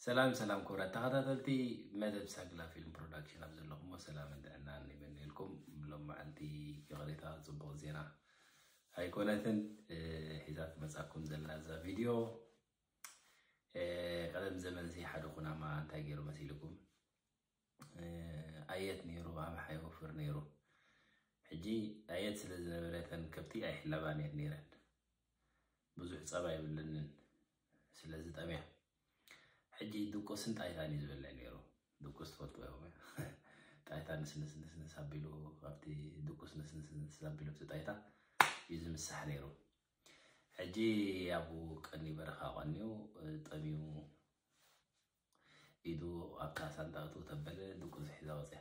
ሰላም ሰላም ክቡራት ተኸታተልቲ መደብ ሳግላ ፊልም ፕሮዳክሽን ኣብ ዘለኹሞ ሰላምን ጥዕናን ይመነየልኩም። ሎም መዓልቲ ይቕሬታ ጽቡቕ ዜና ኣይኮነትን እ፣ ሒዛ ትመጻኩም ዘላ እዛ ቪድዮ። እ፣ ቀደም ዘመን ሲ ሓደ ኩናማ እንታይ ገይሩ መሲልኩም? እ፣ ኣየት ነይሩ፣ ኣምሓ ይወፍር ነይሩ። ሕጂ ኣየት ስለ ዝነበረ እተን ከብቲ ኣይሕለባን እየን ነይረን። ብዙሕ ጸባ የብለንን ስለ ዝጠምያ። ሕጂ ድቁስን ጣይታን እዩ ዝበልዕ ነይሩ። ድቁስ ትፈልጥዎ ኢኹም። ጣይታ ንስንስ ንስንስ ኣቢሉ ኣብቲ ድቁስ ንስንስ ንስንስ ኣቢሉ ኣብቲ ጣይታ እዩ ዝምሳሕ ነይሩ። ሕጂ ኣብኡ ቀኒ በረኻ ቀንዩ ጠምዩ ኢዱ ኣብታ ሳንጣ እትው ተበለ ድቁስ ሒዛ ወፅያ።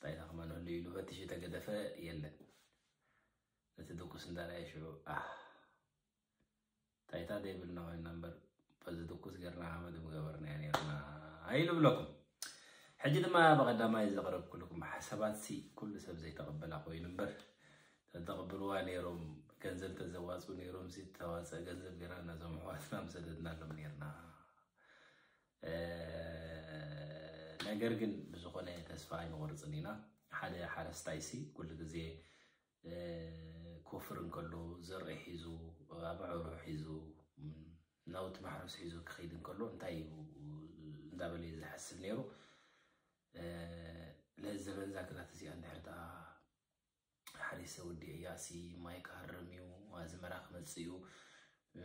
ጣይታ ከማን ህሉ ኢሉ ፈትሹ ተገደፈ የለን። እቲ ድቁስ እንዳረኣየ ሽዑ ኣህ ጣይታ ዘይብልና ኮይና እምበር በዚ ድቁስ ጌርና ሃመድ ምገበርናያ ነርና ኢሉ ብለኩም። ሕጂ ድማ ብቐዳማይ ዘቕረብኩልኩም ሓሳባት ሲ ኩሉ ሰብ ዘይተቐበላ ኮይኑ እምበር ተተቕብልዋ ነይሮም፣ ገንዘብ ተዘዋፁ ነይሮም ሲ ተዋፀ ገንዘብ ጌርና ነዞም ኣሕዋትና ምሰደድናሎም ነርና። እ፣ ነገር ግን ብዝኾነ ተስፋ ኣይንቆርፅን ኢና። ሓደ ሓረስታይ ሲ ኩሉ ግዜ እ፣ ኮፍር እንከሎ ዘርኢ ሒዙ ኣባዕሩ ሒዙ ም፣ ናውቲ ማሕረስ ሒዙ ክኸይድ እንከሎ እንታይ እዩ እንዳበለ እዩ ዝሓስብ ነይሩ። እ፣ ለዘበን ዛግራት እዚኣ እንድሕር ደኣ ሓሪሰ ወዲአ እያሲ ማይ ክሃርም እዩ፣ ኣዝመራ ክመጽእ እዩ፣ እ፣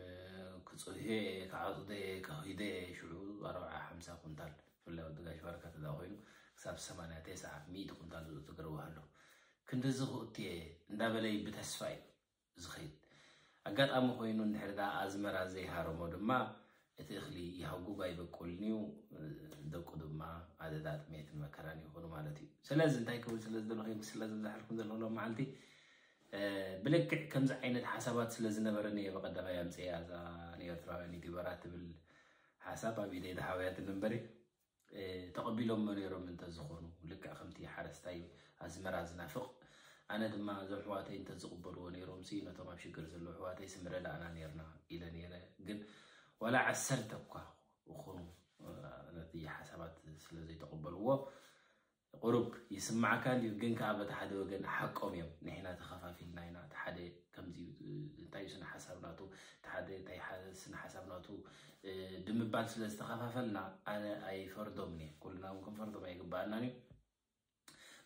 ክጽህዮ እየ፣ ክዓጽዶ እየ፣ ከኺዶ እየ። ሽዑ ኣርብዓ ሓምሳ ኩንታል ብፍላይ ወዲ ጋሽ ባርካ ተዳ ኮይኑ ክሳብ ሰማንያ ተስዓ ሚእቲ ኩንታል ዝእቱ ገርዋ ኣሎ። ክንድዚ ክእቱ እየ እንዳበለይ ብተስፋ እዩ ዝኸይድ። ኣጋጣሚ ኮይኑ እንድሕር ደኣ ኣዝመራ ዘይሃረሞ ድማ እቲ እኽሊ ይሃጉግ ኣይበቁልን እዩ፣ ደቁ ድማ ኣደዳ ጥሜትን መከራን ይኾኑ ማለት እዩ። ስለዚ እንታይ ክብል ስለ ዝደለኹ ስለ ዝበዝሓልኩም ዘለኹ ሎም መዓልቲ እ፣ ብልክዕ ከምዚ ዓይነት ሓሳባት ስለ ዝነበረኒ እየ ብቐዳማይ ኣምፅኤ እዛ ንኤርትራውያን ዩቲዩበራት ትብል ሓሳብ ኣብ ኢደይ ዝሃወያትኒ እምበሪ እ፣ ተቐቢሎሞ ነይሮም እንተዝኾኑ ልክዕ ከምቲ ሓረስታይ ኣዝመራ ዝናፍቕ ኣነ ድማ እዞም ኣሕዋተይ እንተዝቕበልዎ ነይሮም ሲ ነቶም ኣብ ሽግር ዘለዉ ኣሕዋተይ ሲ ምረዳእና ነይርና ኢለ ነይረ። ግን ዋላ ዓሰርተ እኳ ይኹኑ እ፣ ነቲ ሓሳባት ስለ ዘይተቐበልዎ ቁሩብ ይስማዓካ እንድዩ፣ ግን ከኣ በቲ ሓደ ወገን ሓቆም እዮም። ንሕና ተኸፋፊልና ኢና፣ እቲ ሓደ ከምዚ እዩ፣ እንታይ እዩ ስነ ሓሳብ ናቱ፣ እቲ ሓደ እንታይ ሓ-፣ ስነ ሓሳብ ናቱ እ፣ ብምባል ስለ ዝተኸፋፈልና ኣነ ኣይፈርዶምን እየ። ኩልና እውን ክንፈርዶም ኣይግባኣናን እዩ።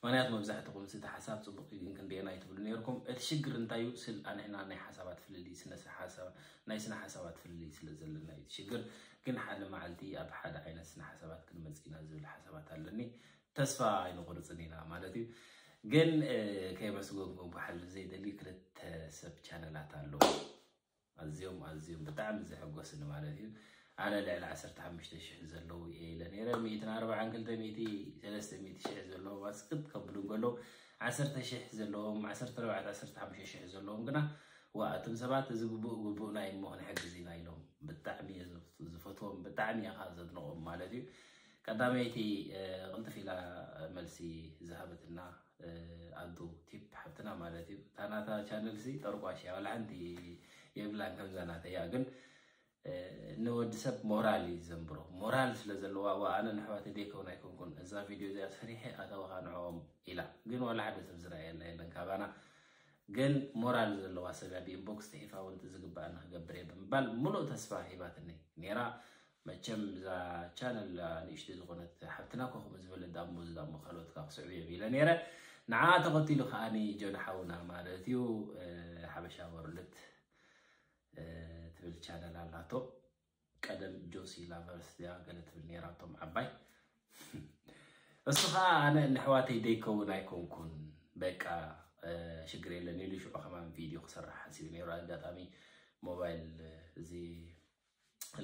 ምክንያቱ መብዛሕትኹም እቲ ሓሳብ ጽቡቕ እዩ ግን ክንደየና ኣይትብሉ ነይርኩም። እቲ ሽግር እንታይ እዩ? ስል ኣንሕና ናይ ሓሳባት ፍልልይ ስነ ሓሳብ ናይ ስነ ሓሳባት ፍልልይ ስለ ዘለና እዩ እቲ ሽግር። ግን ሓደ መዓልቲ ኣብ ሓደ ዓይነት ስነ ሓሳባት ክንመጽእ ኢና ዝብል ሓሳባት ኣለኒ። ተስፋ ኣይንቆርጽን ኢና ማለት እዩ። ግን እ፣ ከየመስገንኩም ክሓልፍ ዘይደሊ ክልተ ሰብ ቻነላት ኣለዉ። ኣዝዮም ኣዝዮም ብጣዕሚ ዘሐጎስኒ ማለት እዩ። ኣነ ልዕሊ ዓሰርተ ሓሙሽተ ሽሕ ዘለዉ እየ ኢለ ነይረ። ሚእትን ኣርባዓን ክልተ ሚእቲ ሰለስተ ሚእቲ ሽሕ ዘለዎም ኣስቅጥ ከብሉ እንከለዉ ዓሰርተ ሽሕ ዘለዎም ዓሰርተ ኣርባዕተ ዓሰርተ ሓሙሽተ ሽሕ ዘለዎም ግና ዋ እቶም ሰባት እዚ ግቡእ ግቡእና እዩ እሞ ክንሕግዝ ኢና ኢሎም ብጣዕሚ እየ ዝፈትዎም ብጣዕሚ እየ ከዓ ዘድንቖም ማለት እዩ። ቀዳመይቲ እ፣ ቅልጥፍ ኢላ መልሲ ዝሃበትና እ፣ ኣዱ ቲፕ ሓብትና ማለት እዩ። እታ ናታ ቻነል ሲ ጠርቋሽ እያ፣ ዋላ ሓንቲ የብላን ከምዛ ናተይ እያ። ግን እ፣ ንወዲ ሰብ ሞራል እዩ ዘንብሮ። ሞራል ስለ ዘለዋ፣ ዋ፣ ኣነ ንኣሕዋተይ ደይከውን ኣይኮንኩን። እዛ ቪድዮ እዚኣ ሰሪሐ ኣተወኻ ንዕኦም ኢላ። ግን ዋላ ሓደ ሰብ ዝረኣየላ የለን ካባና። ግን ሞራል ዘለዋ ሰብ እያ ብኢንቦክስ ጽሒፋ እውን እቲ ዝግባኣኒ ክገብር እየ ብምባል ምሉእ ተስፋ ሂባትኒ ነይራ። መቸም እዛ ቻነል ንእሽተይ ዝኾነት ሓብትና እኮ ከምኡ ዝበለ ዳሞ ዝዳሞ ካልኦት ካብ ክስዕቡ እዮም ኢለ ነይረ። ንዓ ተኸቲሉ ከዓኒ ጆን ሓውና ማለት እዩ እ፣ ሓበሻ ወርልድ እ፣ ትብል ቻነል ኣላቶ። ቀደም ጆሲ ላቨርስ እያ ገለ ትብል ነይራ እቶም ዓባይ። እሱ ከዓ ኣነ ንኣሕዋተይ ደይከውን ኣይኮንኩን በቃ እ፣ ሽግር የለን ኢሉ ሽዑ ከማን ቪድዮ ክሰርሕ ሓሲቡ ነይሩ። ኣጋጣሚ ሞባይል እ፣ እዚ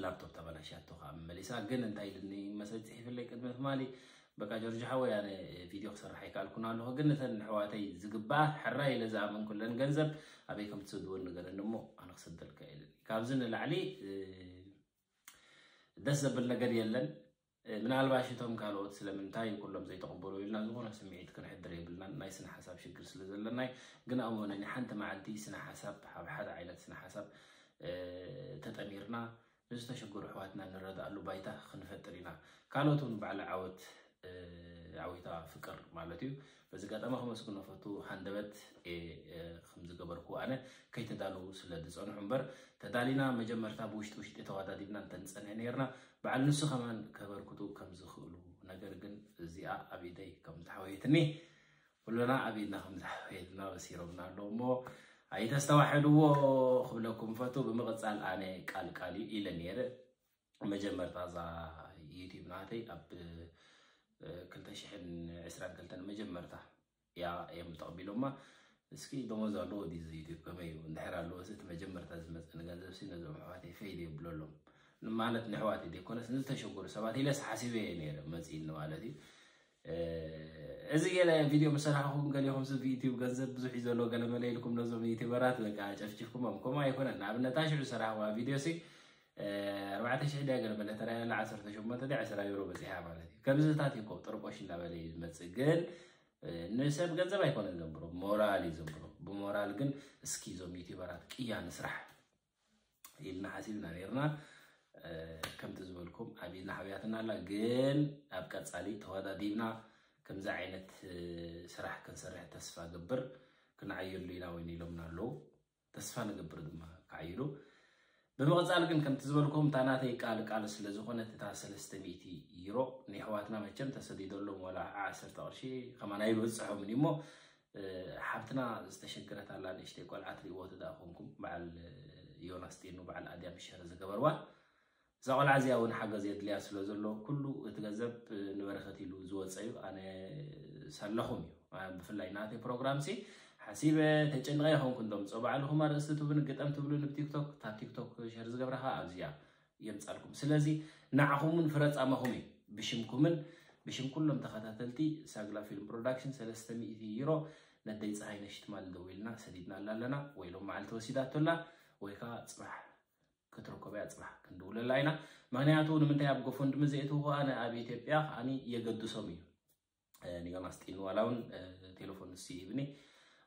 ላፕቶፕ ተበላሽያቶ ከዓ መመሊሳ። ግን እንታይ ኢልኒ መሰል ፅሒፍለይ ቅድሚ ትማሊ በቃ ጆርጅ ሓወይ ኣነ ቪድዮ ክሰርሕ ኣይከኣልኩን ኣለኹ፣ ግን ነተን ኣሕዋተይ ዝግባኣ ሕራይ ኢለ ዝኣመንኩለን ገንዘብ ኣበይ ከም ትሰድወን ንገረኒ እሞ ኣነ ክሰደልካ ኢለኒ። ካብዚ ንላዕሊ እ፣ ደስ ዘብል ነገር የለን። እ፣ ምናልባሽ እቶም ካልኦት ስለምንታይ ኩሎም ዘይተቐበሉ ኢልና ዝኾነ ስምዒት ክንሕድር የብልናን። ናይ ስነ ሓሳብ ሽግር ስለ ዘለናይ ግን ኣሞነኒ ሓንቲ መዓልቲ ስነ ሓሳብ ኣብ ሓደ ዓይነት ስነ ሓሳብ እ፣ ተጠሚርና ንዝተሸገሩ ኣሕዋትና ንረዳእ ባይታ ክንፈጥር ኢና። ካልኦት እውን ባዕሊ ዓወት ዓዊታ ፍቅር ማለት እዩ። በዚ ኣጋጣሚ ከመስግኖ ፈቱ። ሃንደበት ከም ዝገበርኩ ኣነ ከይተዳለዉ ስለ ዝፀንሑ እምበር፣ ተዳሊና መጀመርታ ብውሽጢ ውሽጢ ተዋዳዲብና እንተንፀንሕ ነርና፣ በዓል ንሱ ከማን ከበርክቱ ከም ዝኽእሉ። ነገር ግን እዚኣ ኣብ ኢደይ ከም ተሓወየትኒ፣ ኩልና ኣብ ኢድና ከም ዝሓወየትና በሲሮምና ኣለዉ እሞ ኣይተስተዋሕድዎ ክብለኩም ፈቱ። ብምቕፃል ኣነ ቃል ቃል እዩ ኢለ ነይረ። መጀመርታ እዛ ዩቲብ ናተይ ኣብ ክልተ ሽሕን ዕስራን ክልተን መጀመርታ እያ እዮም ተቐቢሎማ። እስኪ ደሞዝ ኣለዎ ድዩ እዚ ዩቲብ ከመይ እዩ? እንድሕር ኣለዎ፣ እቲ መጀመርታ ዝመፀኒ ገንዘብ ሲ ነዞም ኣሕዋተይ ፈይድ የብለሎም ማለት ንሕዋተይ ዘይኮነስ ንዝተሸገሩ ሰባት ኢለስ ሓሲበ እየ ነይረ መፂእኒ ማለት እዩ። እዚ ገለ ቪድዮ ምስ ሰራሕኹም ገሊኹም ሲ ብዩቲብ ገንዘብ ብዙሕ እዩ ዘሎ ገለ መለ ኢልኩም ነዞም ዩቲበራት በቃ ጨፍጭፍኩሞም። ከምኡ ኣይኮነን። ንኣብነት ኣሽዑ ዝሰራሕዋ ቪድዮ ሲ ኣርባዕተ ሽሕ ድያ ገለ መለ ተራያ ኣላ ዓሰርተ ሸሞንተ ድያ ዕስራ ዩሮ በፂሓ ማለት እዩ። ከምዚታት እዩ እኮ ጥርቆሽ እንዳበለ እዩ ዝመፅእ። ግን ንሰብ ገንዘብ ኣይኮነን ዘንብሮ፣ ሞራል እዩ ዘንብሮ። ብሞራል ግን እስኪ እዞም ዩቲበራት ቅያ ንስራሕ ኢልና ሓሲብና ነርና። ከምቲ ዝበልኩም ኣብ ኢድና ሓውያትና ኣላ። ግን ኣብ ቀፃሊ ተወዳዲብና ከምዚ ዓይነት ስራሕ ክንሰርሕ ተስፋ ገብር። ክንዓየሉ ኢና እውን ኢሎምና ኣለዉ። ተስፋ ንገብር ድማ ክዓይሉ። ብምቕፃል ግን ከምቲ ዝበልኩም እታ ናተይ ቃል ቃል ስለ ዝኾነት እታ ሰለስተ ሚእቲ ዩሮ ንየሕዋትና መቸም ተሰዲደሎም ዋላ ዓሰርተ ቅርሺ ከማን ኣይበፅሖምን እዩ እሞ፣ ሓብትና ዝተሸገረት ኣላ ንእሽተይ ቆልዓ ትሪእዎ ትደኣ ኮንኩም፣ በዓል ዮናስ ጢኑ በዓል ኣድያም ሸር ዝገበርዋ እዛ ቆልዓ እዚኣ እውን ሓገዝ የድልያ ስለ ዘሎ ኩሉ እቲ ገንዘብ ንበረከት ኢሉ ዝወፀ እዩ። ኣነ ሳለኹም እዩ። ብፍላይ ናተይ ፕሮግራም ሲ ሓሲበ ተጨንቀ ይኸውን ኩንቶም ጾ ባዕልኹም ኣርእስቲ ትብሉን ግጠም ትብሉን ብቲክቶክ፣ እታ ቲክቶክ ሸር ዝገብራ ከዓ ኣብዚኣ የምጻልኩም። ስለዚ ንዓኹምን ፍረጻመኹም እዩ። ብሽምኩምን ብሽም ኩሎም ተኸታተልቲ ሳግላ ፊልም ፕሮዳክሽን ሰለስተ ሚእቲ ዩሮ ነደይ ፀሃይ ነሽትማል ደዊልና ሰዲድናላ ኣለና ወይ ሎም መዓልቲ ወሲዳቶላ ወይ ከዓ ፅባሕ ክትርከበያ ፅባሕ ክንድውለላ ኢና። ምክንያቱ ንምንታይ ኣብ ጎፈንድሚ ዘእትውዎ ኣነ ኣብ ኢትዮጵያ ከዓኒ የገድሶም እዩ። ንዮናስ ጢኑ ዋላ እውን ቴሌፎን ንሱ ይህብኒ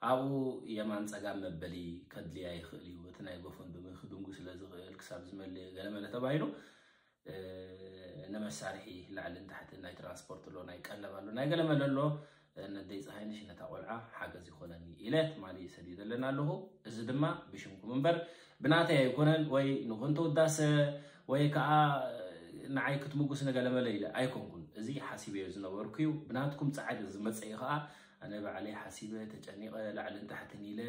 ኣብኡ የማን ፀጋም መበሊ ከድልያ ይኽእል እዩ እቲ ናይ ጎፈንድሚ ክድንጉ ስለ ዝኽእል ክሳብ ዝመልእ ገለመለ ተባሂሉ ንመሳርሒ ላዕልን ታሕትን ናይ ትራንስፖርት ኣሎ ናይ ቀለብ ኣሎ ናይ ገለመለ ኣሎ ነደይ ፀሃይነሽ ነታ ቆልዓ ሓገዝ ይኾነኒ ኢለ ትማሊ ሰዲደለን ኣለኹ። እዚ ድማ ብሽምኩም እምበር ብናተይ ኣይኮነን ወይ ንኾንተ ውዳሰ ወይ ከዓ ንዓይ ክትምጉስ ንገለመለ ኢለ ኣይኮንኩን። እዚ ሓሲበዮ ዝነበርኩ እዩ። ብናትኩም ፃዕሪ ዝመፀ እዩ ከዓ ኣነ ባዕለይ ሓሲበ ተጨኒቐ ላዕልን ታሕትን ኢለ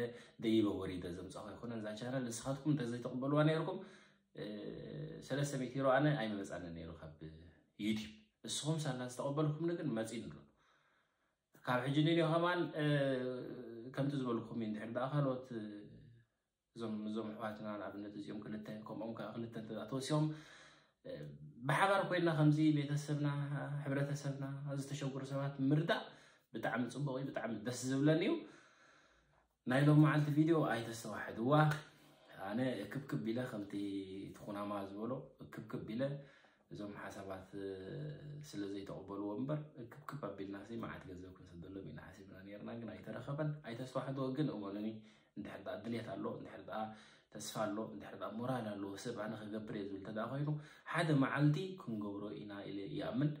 ደይበ ወሪደ ዘምፃኹ ኣይኮነን እዛ ቻነል። ንስኻትኩም እንተዘይተቕበልዋ ነይርኩም ሰለስተ ሚእቲ ዩሮ ኣነ ኣይመመፃንን ነይሩ ካብ ዩቲብ። ንስኹም ሳላ ዝተቐበልኩምኒ ግን መፂኒ ኣሎ። ካብ ሕጂ ንልዮ ከማን ከምቲ ዝበልኩም እዩ። እንድሕር ደኣ ካልኦት እዞም እዞም ኣሕዋትና ንኣብነት እዚኦም ክልተ ከምኦም ከዓ ክልተ እንተ ተወሲኦም ብሓባር ኮይና ከምዚ ቤተሰብና ሕብረተሰብና ዝተሸገሩ ሰባት ምርዳእ ብጣዕሚ ፅቡቅ እዩ፣ ብጣዕሚ ደስ ዝብለኒ እዩ። ናይ ሎም መዓልቲ ቪድዮ ኣይተስተዋሕድዋ። ኣነ እክብክብ ኢለ ከምቲ ትኹናማ ዝበሎ እክብክብ ኢለ እዞም ሓሳባት ስለ ዘይተቐበልዎ እምበር እክብክብ ኣቢልና ሲ መዓት ገንዘብ ክንሰደሎም ኢና ሓሲብና ነርና፣ ግን ኣይተረኸበን። ኣይተስተዋሕድዎ ግን እመኑኒ እንድሕር ደኣ ድሌት ኣሎ እንድሕር ደኣ ተስፋ ኣሎ እንድሕር ደኣ ሞራል ኣለዎ ሰብ ኣነ ክገብር እየ ዝብል እንተ ደኣ ኮይኑ ሓደ መዓልቲ ክንገብሮ ኢና ኢለ ይኣምን።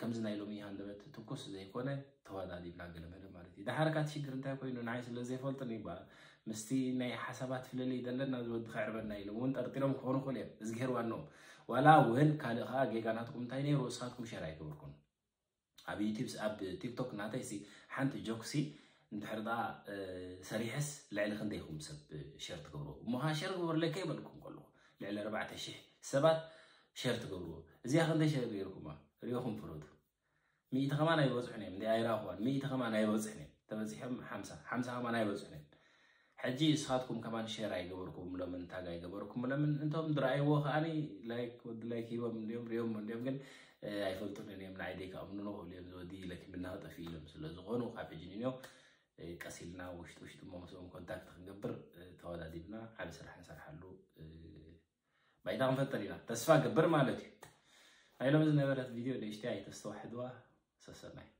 ከምዚ ናይ ሎሚ ሃንደበት ትኩስ ዘይኮነ ተወዳዲብና ገለመለ ማለት እዩ። ደሓር ካት ሽግር እንታይ ኮይኑ ንዓይ ስለ ዘይፈልጥን ይበሃል ምስቲ ናይ ሓሳባት ፍልልይ ዘለና ዝወዲ ከዕርበና ኢሎም እውን ጠርጢሮም ክኾኑ ክእሉ እዮም። እዝግሄር ዋንኦም ዋላ እውን ካልእ ከዓ ጌጋ ናትኩም እንታይ ነይሩ እስኻትኩም ሸር ኣይገበርኩም። ኣብ ዩቲብ ኣብ ቲክቶክ ናተይ ሲ ሓንቲ ጆክ ሲ እንድሕር ደኣ ሰሪሐስ ልዕሊ ክንደይኹም ሰብ ሸር ትገብርዎ እሞ ከዓ ሸር ግበሩለይ ከይበልኩም ከለኹ ልዕሊ ኣርባዕተ ሽሕ ሰባት ሸር ትገብርዎ። እዚኣ ክንደይ ሸር ገይርኩማ ሪኦኹም ፍረዱ። ሚእቲ ከማን ኣይበፅሑን እዮም እንደ ኣይራኽዋን ሚእቲ ከማን ኣይበፅሑን እዮም። ተበፂሖም ሓምሳ ሓምሳ ከማን ኣይበፅሑን እዮም። ሕጂ እስኻትኩም ከማን ሸር ኣይገበርኩምሎምን ታግ ኣይገበርኩምሎምን እንቶም ዝረኣይዎ ከዓኒ ላይክ ወዲ ላይክ ሂቦም እንዲዮም ሪኦም እንዲዮም ግን ኣይፈልጡን እዮም ንዓይ ደይከኣምኑን ክእሉ እዮም ዝወዲ ለኪምና ክጠፊ ኢሎም ስለ ዝኾኑ ካብ ሕጂ ንንዮ ቀስ ኢልና ውሽጢ ውሽጢ እሞ ምስኦም ኮንታክት ክንገብር ተወዳዲብና ዓብ ስራሕ ንሰርሓሉ ባይታ ክንፈጥር ኢና ተስፋ ገብር ማለት እዩ። ናይ ሎሚ ዝነበረት ቪድዮ ንእሽተይ ኣይተስተዋሕድዋ። ሰሰናይ።